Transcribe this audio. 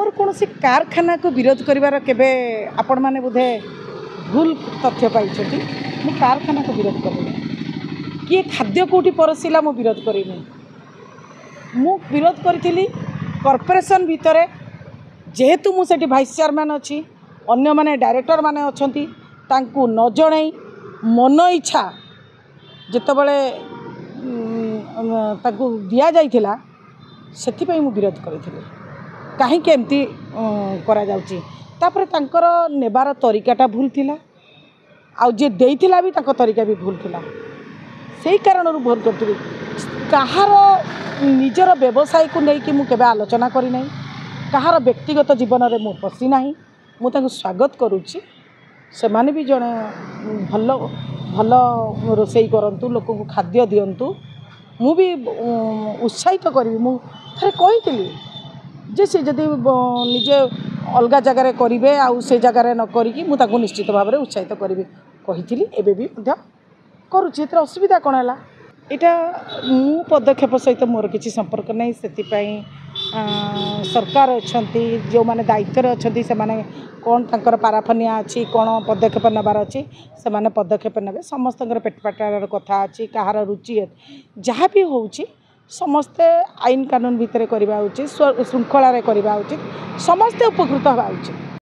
ମୋର କୌଣସି କାରଖାନାକୁ ବିରୋଧ କରିବାର କେବେ, ଆପଣମାନେ ବୋଧେ ଭୁଲ ତଥ୍ୟ ପାଇଛନ୍ତି। ମୁଁ କାରଖାନାକୁ ବିରୋଧ କରିନି, କିଏ ଖାଦ୍ୟ କେଉଁଠି ପରସିଲା ମୁଁ ବିରୋଧ କରିନି। ମୁଁ ବିରୋଧ କରିଥିଲି କର୍ପୋରେସନ୍ ଭିତରେ, ଯେହେତୁ ମୁଁ ସେଠି ଭାଇସ୍ ଚେୟାରମ୍ୟାନ୍ ଅଛି, ଅନ୍ୟମାନେ ଡାଇରେକ୍ଟରମାନେ ଅଛନ୍ତି, ତାଙ୍କୁ ନ ଜଣାଇ ମନ ଇଚ୍ଛା ଯେତେବେଳେ ତାଙ୍କୁ ଦିଆଯାଇଥିଲା, ସେଥିପାଇଁ ମୁଁ ବିରୋଧ କରିଥିଲି, କାହିଁକି ଏମିତି କରାଯାଉଛି। ତାପରେ ତାଙ୍କର ନେବାର ତରିକାଟା ଭୁଲ ଥିଲା, ଆଉ ଯିଏ ଦେଇଥିଲା ବି ତାଙ୍କ ତରିକା ବି ଭୁଲ ଥିଲା। ସେଇ କାରଣରୁ ଭୁଲ କରିଥିଲି। କାହାର ନିଜର ବ୍ୟବସାୟକୁ ନେଇକି ମୁଁ କେବେ ଆଲୋଚନା କରିନାହିଁ, କାହାର ବ୍ୟକ୍ତିଗତ ଜୀବନରେ ମୁଁ ପଶିନାହିଁ। ମୁଁ ତାଙ୍କୁ ସ୍ୱାଗତ କରୁଛି। ସେମାନେ ବି ଜଣେ ଭଲ ଭଲ ରୋଷେଇ କରନ୍ତୁ, ଲୋକଙ୍କୁ ଖାଦ୍ୟ ଦିଅନ୍ତୁ, ମୁଁ ବି ଉତ୍ସାହିତ କରିବି। ମୁଁ ଥରେ କହିଥିଲି ଯେ ସେ ଯଦି ନିଜେ ଅଲଗା ଜାଗାରେ କରିବେ ଆଉ ସେ ଜାଗାରେ ନ କରିକି, ମୁଁ ତାଙ୍କୁ ନିଶ୍ଚିତ ଭାବରେ ଉତ୍ସାହିତ କରିବି କହିଥିଲି, ଏବେ ବି ମଧ୍ୟ କରୁଛି। ଏଥିରେ ଅସୁବିଧା କ'ଣ ହେଲା? ଏଇଟା ମୁଁ ପଦକ୍ଷେପ ସହିତ ମୋର କିଛି ସମ୍ପର୍କ ନାହିଁ। ସେଥିପାଇଁ ସରକାର ଅଛନ୍ତି, ଯେଉଁମାନେ ଦାୟିତ୍ୱରେ ଅଛନ୍ତି, ସେମାନେ କ'ଣ ତାଙ୍କର ପାରାଫନିଆ ଅଛି, କ'ଣ ପଦକ୍ଷେପ ନେବାର ଅଛି, ସେମାନେ ପଦକ୍ଷେପ ନେବେ। ସମସ୍ତଙ୍କର ପେଟ ପାଟଣାର କଥା ଅଛି, କାହାର ରୁଚି ଯାହା ବି ହେଉଛି, ସମସ୍ତେ ଆଇନ କାନୁନ ଭିତରେ କରିବା ଉଚିତ, ଶୃଙ୍ଖଳାରେ କରିବା ଉଚିତ, ସମସ୍ତେ ଉପକୃତ ହେବା ଉଚିତ।